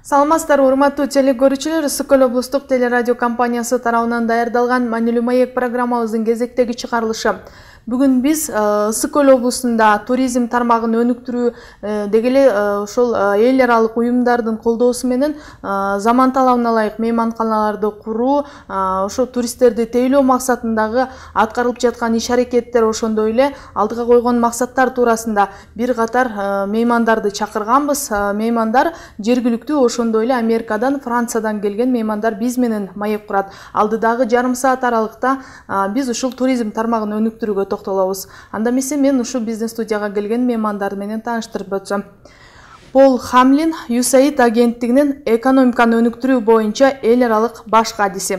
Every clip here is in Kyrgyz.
Саламатсыздар, урматтуу телекөрүүчүлөр. Ысык-Көл облустук телерадио компаниясы тарабынан даярдалган Маанилүү маек программабыздын кезектеги чыгарылышы. Бүгүн биз Ысык-Көл облусунда туризм тармагын өнүктүрүү деги эле ошол эл аралык уюмдардын колдоосу менен заман талабына ылайык мейманканаларды куруу, ошо туристтерди тейлөө максатындагы аткарылып жаткан иш-аракеттер, ошондой эле алдыга койгон максаттар туурасында бир катар меймандарды чакырганбыз. Меймандар жергиликтүү, ошондой эле Америкадан, Франциядан келген меймандар биз менен маек курат. Алдыдагы жарым саат аралыкта биз ушул туризм тармагын өнүктүрүүгө токтолобуз. Анда эмесе мен ушу биздин студияга келген меймандар менен тааныштырып өтсөм. Пол Хамлин USAID агенттигинин экономиканы өнүктүрүү боюнча эл аралык баш кадиси.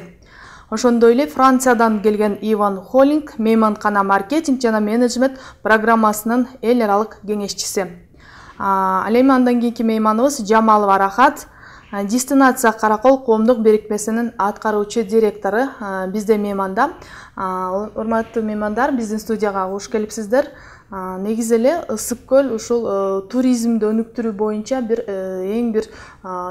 Ошондой эле Франциядан келген Иван Холлинг мейманкана маркетинг жана менеджмент программасынын эл аралык кеңешчиси. Ал эми андан кийинки мейманыбыз Жамалова Рахат, Дестинация Каракол коомдук бирикмесинин аткаруучу директору бизде мейманда. Урматтуу меймандар, биздин студияга куш келипсиздер. Негизи эле Ысык-Көл ушул туризмди өнүктүрүү боюнча эң бир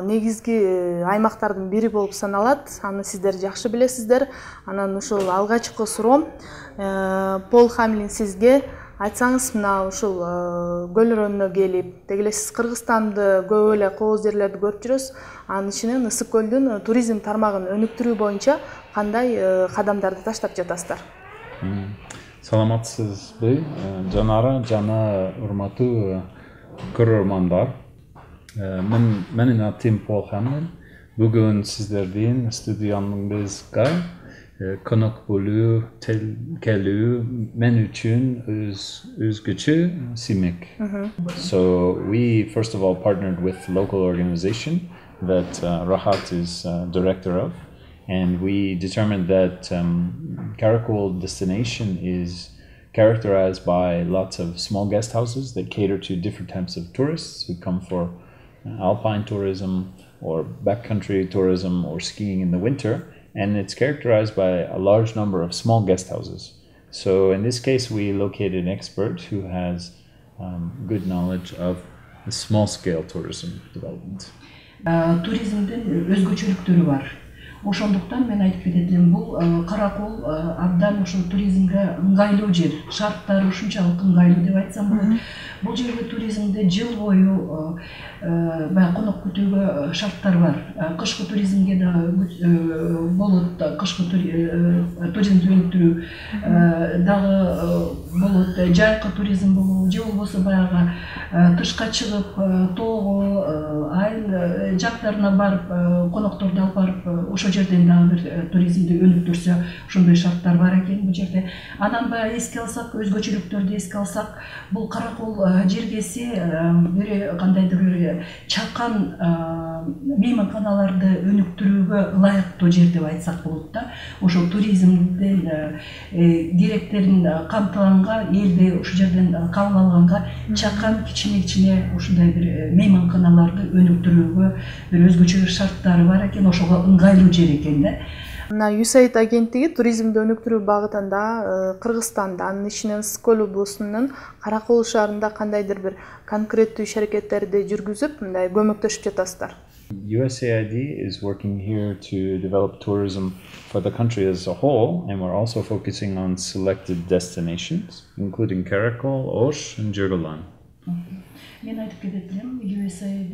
негизги аймактардын бири болуп саналат. Аны сиздер жакшы билесиздер. Анан ушул алгачкы суроом Пол Хамлин сизге. Айтсаңыз, мына ушул көл өрөөнүнө келип, деги эле сиз Кыргызстанды көп эле кооз жерлерди көрүп жүрөсүз. Анын ичинен Ысык-Көлдүн туризм тармагын өнүктүрүү боюнча кандай кадамдарды таштап жатасыздар? Саламатсызбы, Жанара жана урматтуу көрөрмандар. Менин атым Пол Хамлин. Бүгүн сиздердин студиябызга konuk болуу, келүү мен үчүн өзгөчө симек. So we first of all partnered with a local organization that Rahat is director of, and we determined that Karakol destination is characterized by lots of small guest houses that cater to different types of tourists who come for alpine tourism or backcountry tourism or skiing in the winter. And it's characterized by a large number of small guest houses. So in this case, we located an expert who has good knowledge of the small-scale tourism development. Туризмдин өзгөчөлүктөрү бар. Ошондуктан мен айтып кететим, бул Каракол абдан ошол туризмге ыңгайлуу жер. Шарттары ушунчалык ыңгайлуу деп айтсам болот. Бул жерде туризмде жыл бою баягы конок күтүүгө шарттар бар. Кышкы туризмге да болот, кышкы туризмди өнүктүрүү дагы болот, жайкы туризм болобу, же болбосо баягы тышка чыгып, тоого, айыл жактарына барып, конокторду алып барып, ошол жерден дагы бир туризмди өнүктүрсө, ошондой шарттар бар экен бул жерде. Анан баягы эске алсак, өзгөчөлүктөрдү эске алсак, бул Каракол жергеси бир кандайдыр бир чакан мейманканаларды өнүктүрүүгө ылайыктуу жер деп айтсак болот да. Ошол туризмдин керектерин камтыганга, элди ошол жерден кабыл алганга чакан кичине ушундай бир мейманканаларды өнүктүрүүгө бир өзгөчө шарттары бар экен, ошого ыңгайлуу жер экен да. Мына USAID агенттиги туризмди өнүктүрүү багытында Кыргызстанда, анын ичинен Ысык-Көл облусунун Каракол шаарында кандайдыр бир конкреттүү иш-аракеттерди жүргүзүп, мындай көмөктөшүп жатасыздар. USAID is working here to develop tourism for the country as a whole, and we're also focusing on selected destinations, including Karakol, Osh, and Jirgalan. Мен айтып кететим, USAID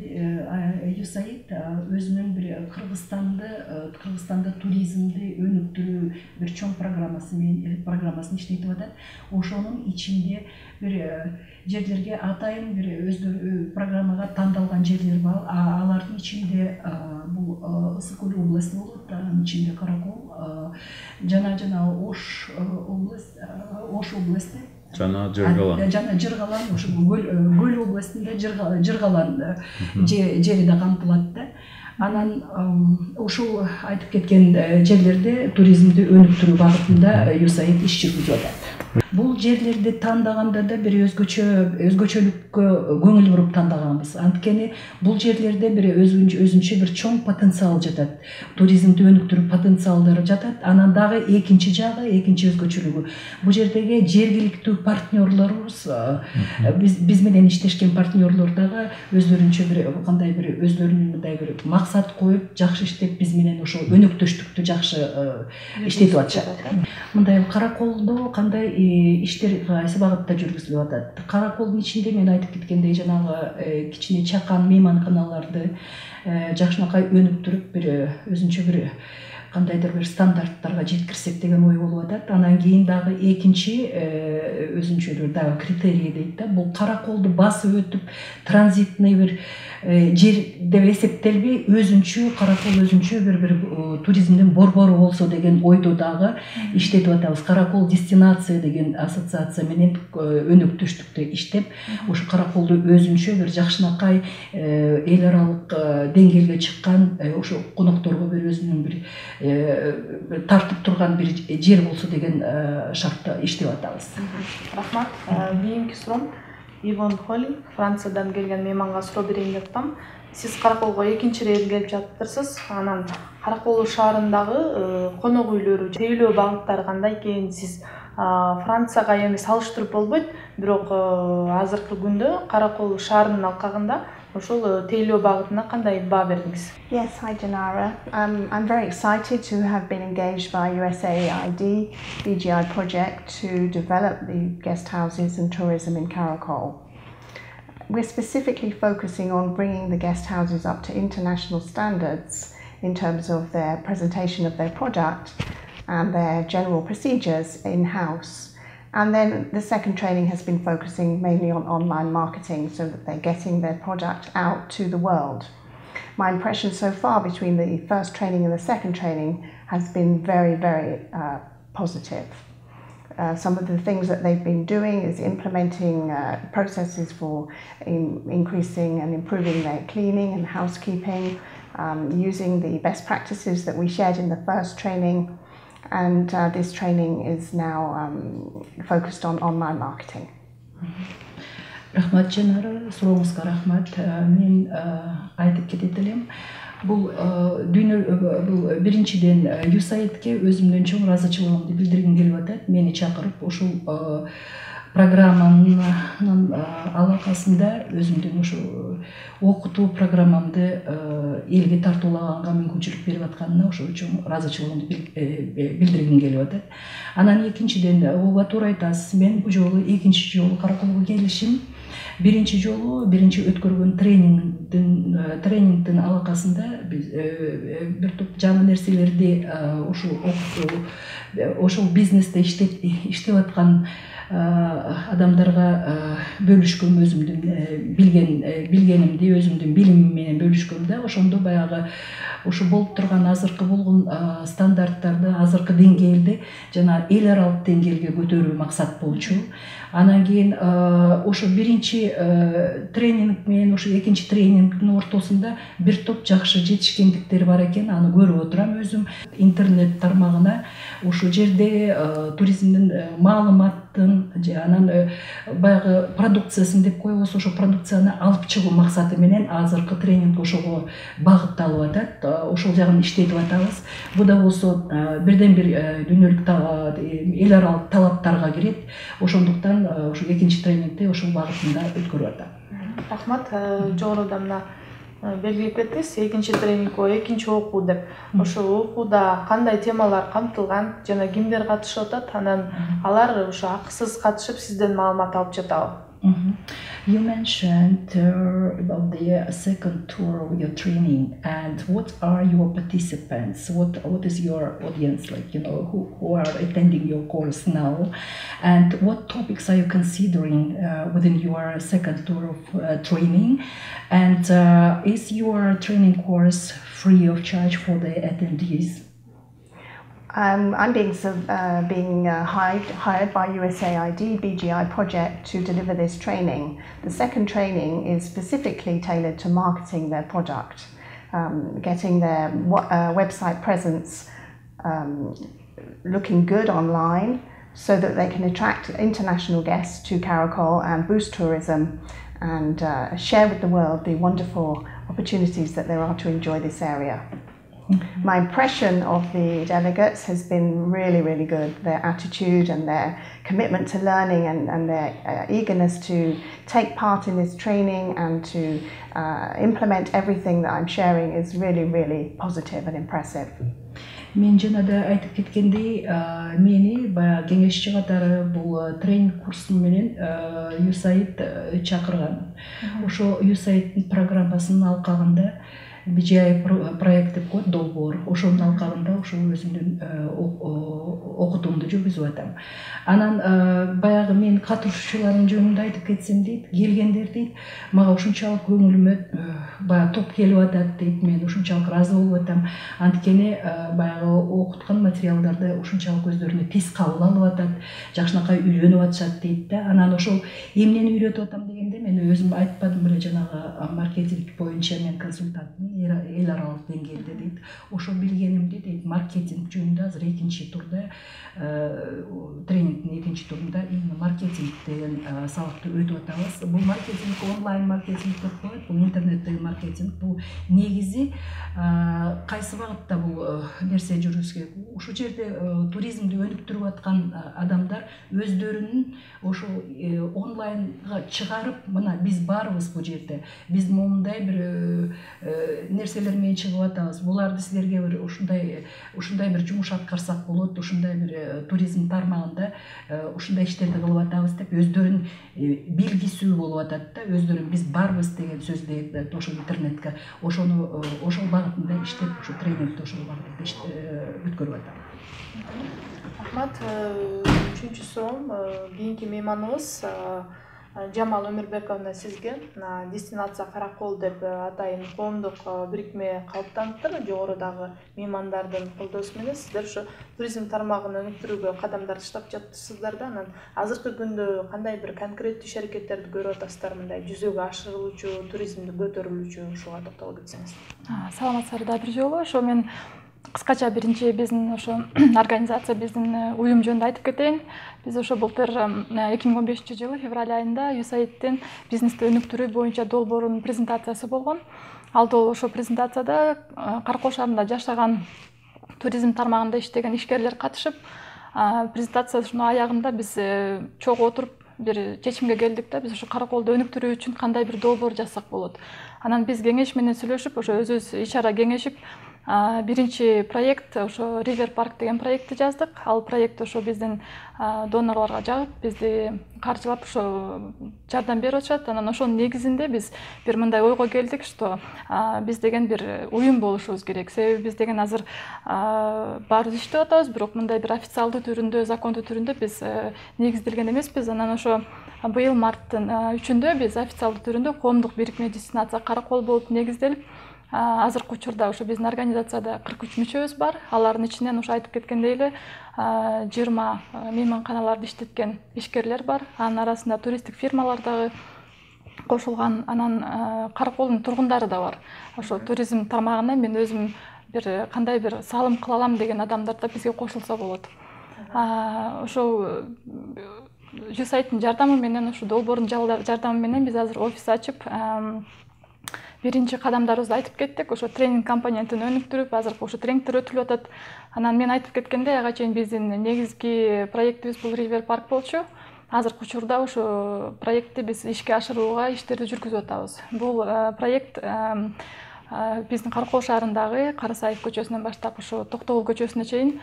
өзүнүн бир Кыргызстанда туризмди өнүктүрүү бир чоң программасын иштетип атат. Ошонун ичинде бир жерлерге атайын бир өздөрү программага тандалган жерлер бар. Алардын ичинде бул Ысык-Көл областы болот, анын ичинде Каракол, жана Ош областы. Жана Жыргалан, ошо Көл областында Жыргалан жери да камтылат да. Анан ушул айтып кеткен жерлерде туризмди өнүктүрүү багытында USAID иш жүргүзүп атат. Бул жерлерди тандаганда да бир өзгөчөлүккө көңүл буруп тандаганбыз. Анткени бул жерлерде бир өзүнчө бир чоң потенциал жатат. Туризмди өнүктүрүү потенциалдары жатат. Анан дагы экинчи жагы, экинчи өзгөчөлүгү. Бул жердеги жергиликтүү партнерлорубуз, биз менен иштешкен партнерлор дагы өздөрүнчө бир кандай бир өздөрүнүн мындай бир максат коюп, жакшы иштеп, биз менен ошо өнөктөштүктү жакшы иштетип атышат. Мындай Караколдо кандай иштер кайсы багытта жүргүзүлүп атат? Караколдун ичинде мен айтып кеткендей жанагы кичине чакан мейманканаларды жакшынакай өнүктүрүп, бир өзүнчө бир кандайдыр бир стандарттарга жеткирсек деген ой болуп атат. Анан кийин дагы экинчи өзүнчө бир дагы критерий дейт да, бул Караколду басып өтүп транзитный бир жер деп эсептелбей, өзүнчө Каракол өзүнчө бир туризмдин борбору болсо деген ойдо дагы иштетип атабыз. Каракол дестинация деген ассоциация менен өнөктөштүктө иштеп, ошо Караколду өзүнчө бир жакшынакай эл аралык деңгээлге чыккан, ошо конокторго бир өзүнүн бир тартып турган бир жер болсо деген шартта иштеп атабыз. Рахмат. Кийинки суроом Ивон Холли, Франциядан келген мейманга суроо берейин деп атам. Сиз Караколго экинчи рет келип жатырсыз. Анан Каракол шаарындагы конок үйлөрү, тейлөө багыттары кандай экен? Сиз Францияга эми салыштырып болбойт, бирок азыркы күндө Каракол шаарынын алкагында ошол тейлөө багытына кандай баа бердиңиз? Yes, hi Janara. I'm very excited to have been engaged by USAID BGI project to develop the guest houses and tourism in Karakol. We're specifically focusing on bringing the guest houses up to international standards in terms of their presentation of their product and their general procedures in-house. And then the second training has been focusing mainly on online marketing so that they're getting their product out to the world. My impression so far between the first training and the second training has been very, very positive. Some of the things that they've been doing is implementing processes for increasing and improving their cleaning and housekeeping, using the best practices that we shared in the first training. And this training is now focused on online marketing. Рахмат Жанара, сурооңузга рахмат. Мен айтып кетет элем. Бул биринчиден USAID-ке өзүмдүн чоң ыраазычылыгымды билдиргим келип атат. Мени чакырып ушул программанын алакасында өзүмдүн ушу окутуу программамды элге тартуулаганга мүмкүнчүлүк берип атканына ошо үчүн ыраазычылыгымды билдиргим келип атат. Анан экинчиден, ооба туура айтасыз, мен бул жолу экинчи жолу Караколго келишим. Биринчи жолу өткөргөн тренингдин алакасында биз бир топ жаңы нерселерди ошол бизнесте иштеп аткан адамдарга бөлүшкөм, өзүмдүн билгенимди, өзүмдүн билимим менен бөлүшкөм да. Ошондо баягы ушу болуп турган азыркы болгон стандарттарды, азыркы деңгээлди жана эл аралык деңгээлге көтөрүү максат болчу. Анан кийин ошо биринчи тренинг менен ошо экинчи тренингдин ортосунда бир топ жакшы жетишкендиктер бар экен. Аны көрүп отурам өзүм интернет тармагына. Ошол жерде туризмдин маалыматтын, анан баягы продукциясын деп коебуз, ошо продукцияны алып чыгуу максаты менен азыркы тренинг ошого багытталып атат. Ошол жагын иштетип атабыз. Бу да болсо бирден бир дүйнөлүк эл аралык талаптарга кирет. Ошондуктан ошо экинчи тренингде ошол багытында өткөрүп атам. Рахмат. Жогоруда мына белгилеп кеттиңиз, экинчи тренинг, экинчи окуу деп. Ошо окууда кандай темалар камтылган жана кимдер катышып атат? Анан алар ошо акысыз катышып сизден маалымат алып жатабы? You mentioned about the second tour of your training, and what are your participants? What is your audience like? Who are attending your course now, and what topics are you considering within your second tour of training? And is your training course free of charge for the attendees? I'm being hired by USAID BGI project to deliver this training. The second training is specifically tailored to marketing their product, getting their website presence looking good online, so that they can attract international guests to Karakol and boost tourism and share with the world the wonderful opportunities that there are to enjoy this area. My impression of the delegates has been really, really good. Their attitude and their commitment to learning and their eagerness to take part in this training and to implement everything that I'm sharing is really, really positive and impressive. Мен жана да айтып кеткендей, мени баягы кеңешчи катары бул тренинг курсу менен USAID чакырган. Ошо USAID программасын алкагында BGI проект деп коет, долбоор. Ошонун алкагында ошо өзүмдүн окутуумду жүргүзүп атам. Анан баягы мен катышуучулардын жөнүндө айтып кетсем дейт, келгендер дейт, мага ушунчалык көңүлүмө баягы топ келип атат дейт, мен ушунчалык ыраазы болуп атам. Анткени баягы окуткан материалдарды ушунчалык өздөрүнө тез кабыл алып атат, жакшынакай үйрөнүп атышат дейт да. Анан ошол эмнени үйрөтүп атам дегенде мен өзүм айтпадым беле, жанагы маркетинг боюнча мен консультантмын эл аралык деңгээлде дейт. Ошо билгенимди дейт, маркетинг жөнүндө азыр экинчи турда тренингдин экинчи турунда именно маркетинг деген сабакты өтүп атабыз. Бул маркетинг онлайн маркетинг деп коет, бул интернеттеги маркетинг. Бул негизи кайсы багытта бул нерсе жүргүзгө. Ушул жерде туризмди өнүктүрүп аткан адамдар өздөрүнүн ошо онлайнга чыгарып, мына биз барбыз бул жерде, биз момундай бир нерселер менен чыгып атабыз, буларды силерге бир ушундай бир жумуш аткарсак болот, ушундай бир туризм тармагында ушундай иштерди кылып атабыз деп өздөрүн билгисүү болуп атат да, өздөрүн биз барбыз деген сөздү ошо интернетке, ошол багытында иштеп, ошо тренингди ошол багытында өткөрүп атам. Рахмат. Үчүнчү суроом кийинки мейманыбыз Жамал Өмүрбековна сизге. Дестинация Каракол деп атайын коомдук бирикме калыптаныптыр. Жогорудагы меймандардын колдоосу менен сиздер ушу туризм тармагын өнүктүрүүгө кадамдар таштап жатырсыздар да. Анан азыркы күндө кандай бир конкреттүү иш аракеттерди көрүп атасыздар, мындай жүзөгө ашырылуучу, туризмди көтөрүлүүчү, ушуга токтоло кетсеңиз. Саламатсыздар да бир жолу. Ошо мен кыскача биринчи биздин ошо организация, биздин уюм жөнүндө айтып кетейин. Биз ошо былтыр 2015-жылы февраль айында USAID-тен бизнести өнүктүрүү боюнча долбоорунун презентациясы болгон. Ал ошо презентацияда Каракол шаарында жашаган туризм тармагында иштеген ишкерлер катышып, презентациянын аягында биз чогуу отуруп бир чечимге келдик да, биз ошо Караколду өнүктүрүү үчүн кандай бир долбоор жазсак болот. Анан биз кеңеш менен сүйлөшүп, ошо өзүбүз иш-чара кеңешип, биринчи проект ошо River Park деген проектти жаздык. Ал проект ошо биздин донорлорго жагып, бизди каржылап ошо жардам берип атышат. Анан ошонун негизинде биз бир мындай ойго келдик, что биз деген бир уюм болушубуз керек. Себеби биз деген азыр баарыбыз иштеп атабыз, бирок мындай бир официалдуу түрүндө, закондуу түрүндө биз негизделген эмеспиз. Анан ошо быйыл марттын 3-үндө биз официалдуу түрүндө коомдук бирикме Дестинация Каракол болуп негизделип, азыркы учурда ошо биздин организацияда 43 мүчөбүз бар. Алардын ичинен ошо айтып кеткендей эле 20 мейманканаларды иштеткен ишкерлер бар. Анын арасында туристтик фирмалар дагы кошулган. Анан Караколдун тургундары да бар. Ошо туризм тармагына мен өзүм бир кандай бир салым кыла алам деген адамдар да бизге кошулса болот. Ошо USAID-тин жардамы менен, ошо долбоордун жардамы менен биз азыр офис ачып, биринчи кадамдарыбызды айтып кеттик. Ошо тренинг компонентин өнүктүрүп, азыр ошо тренингдер өтүлүп атат. Анан мен айтып кеткендей, ага чейин биздин негизги проектибиз бул River Park болчу. Азыркы учурда ошо проектти биз ишке ашырууга иштерди жүргүзүп атабыз. Бул проект биздин Каракол шаарындагы Карасаев көчөсүнөн баштап ошо Токтогул көчөсүнө чейин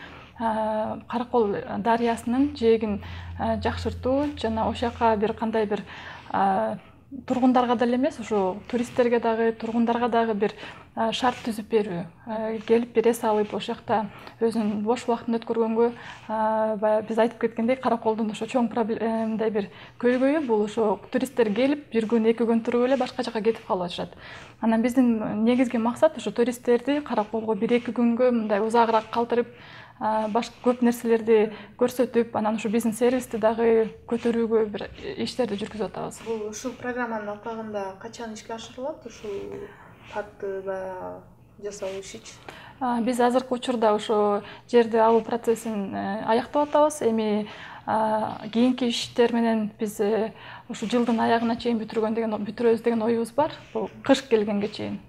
Каракол дарыясынын жээгин жакшыртуу жана ошол жака бир кандай бир тургундарга деле эмес, ошо туристтерге дагы, тургундарга дагы бир шарт түзүп берүү, келип бир эс алып, ошол жакта өзүнүн бош убактын өткөргөнгө, биз айтып кеткендей, Караколдун ошо чоң мындай бир көйгөйү бул ошо туристтер келип, бир күн, 2 күн туруп эле башка жака кетип калып атышат. Анан биздин негизги максат ошо туристтерди Караколго 1-2 күнгө мындай узагыраак калтырып, башка көп нерселерди көрсөтүп, анан ушу биздин сервисти дагы көтөрүүгө бир иштерди жүргүзүп атабыз. Бул ушул программанын алкагында качан ишке ашырылат ушул татты жасоо ишичи? Биз азыркы учурда ошо жерди алуу процессин аяктап атабыз. Эми кийинки иштер менен биз ушу жылдын аягына чейин бүтүрөбүз деген оюбуз бар. Бул кыш келгенге чейин.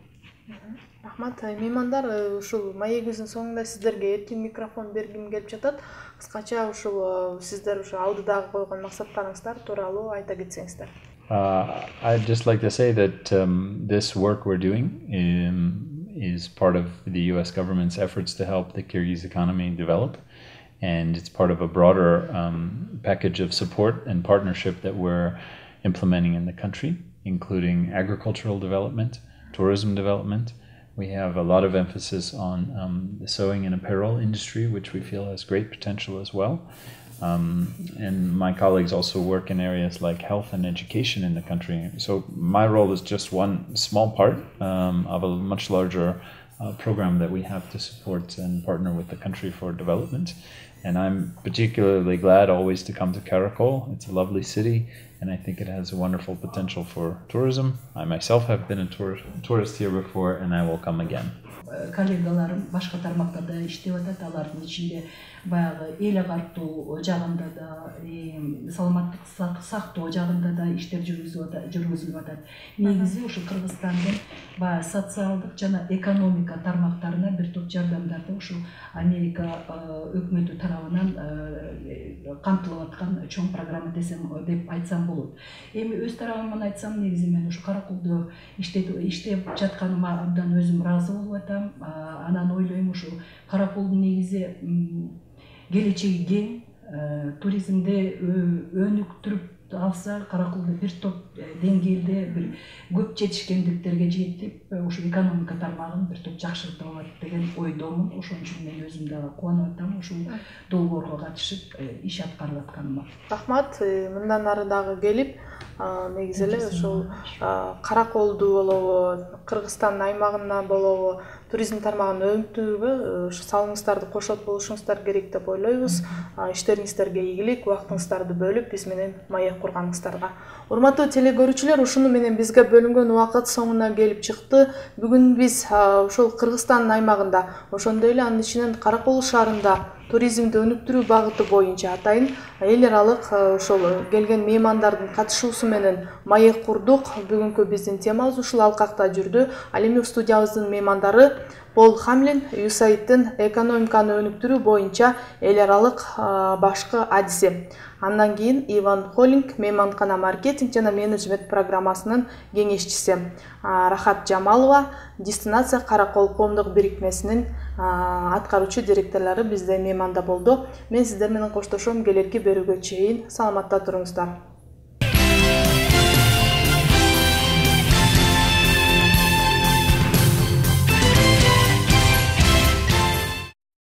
Рахмат. Меймандар, ушул маегибиздин соңунда сиздерге эркин микрофон бергим келип жатат. Кыскача ушул сиздер ушу алдыдагы койгон максаттарыңыздар тууралуу айта кетсеңиздер. I'd just like to say that this work we're doing is part of the US government's efforts to help the Kyrgyz economy develop. And it's part of a broader package of support and partnership that we're implementing in the country, including agricultural development, tourism development. We have a lot of emphasis on the sewing and apparel industry, which we feel has great potential as well. And my colleagues also work in areas like health and education in the country. So my role is just one small part of a much larger program that we have to support and partner with the country for development. And I'm particularly glad always to come to Karakol. It's a lovely city, and I think it has a wonderful potential for tourism. I myself have been a tourist here before, and I will come again. Коллегаларым башка тармактарда иштеп атат, алардын ичинде баягы эл агартуу жагында да, саламаттык сактоо жагында да иштер жүргүзүлүп атат. Негизи ушу Кыргызстандын баягы социалдык жана экономика тармактарына бир топ жардамдарды ушу Америка өкмөтү тарабынан камтылып аткан чоң программа деп айтсам болот. Эми өз тарабымдан айтсам, негизи мен ушу Караколдо иштеп жатканыма абдан өзүм ыраазы болуп атам. Анан ойлойм, ушу Караколдун негизи келечеги кең, туризмде өнүктүрүп алса, Караколдо бир топ деңгээлде бир көп жетишкендиктерге жетип, ушу экономика тармагын бир топ жакшыртып алат деген ойдомун. Ошон үчүн мен өзүм дагы кубанып атам ушул долбоорго катышып иш аткарып атканыма. Рахмат. Мындан ары дагы келип, негизи эле ушул Караколду болобу, Кыргызстан аймагына болобу, туризм тармагын өнүктүрүүгө ушу салымыңыздарды кошот болушуңуздар керек деп ойлойбуз. Иштериңиздерге ийгилик, убактыңыздарды бөлүп биз менен маек курганыңыздарга. Урматтуу телекөрүүчүлөр, ушуну менен бизге бөлүнгөн убакыт соңуна келип чыкты. Бүгүн биз ушул Кыргызстан аймагында, ошондой эле анын ичинен Каракол шаарында туризмди өнүктүрүү багыты боюнча атайын эл аралык ошол келген меймандардын катышуусу менен маек курдук. Бүгүнкү биздин темабыз ушул алкакта жүрдү. Ал эми студиябыздын меймандары Пол Хамлин, USAID-тин экономиканы өнүктүрүү боюнча эл аралык башкы адиси. Андан кийин Иван Холлинг, мейманкана маркетинг жана менеджмент программасынын кеңешчиси. Рахат Жамалова, Дестинация Каракол коомдук бирикмесинин аткаруучу директорлору бизде мейманда болду. Мен сиздер менен коштошом, келерки берүүгө чейин саламатта туруңуздар.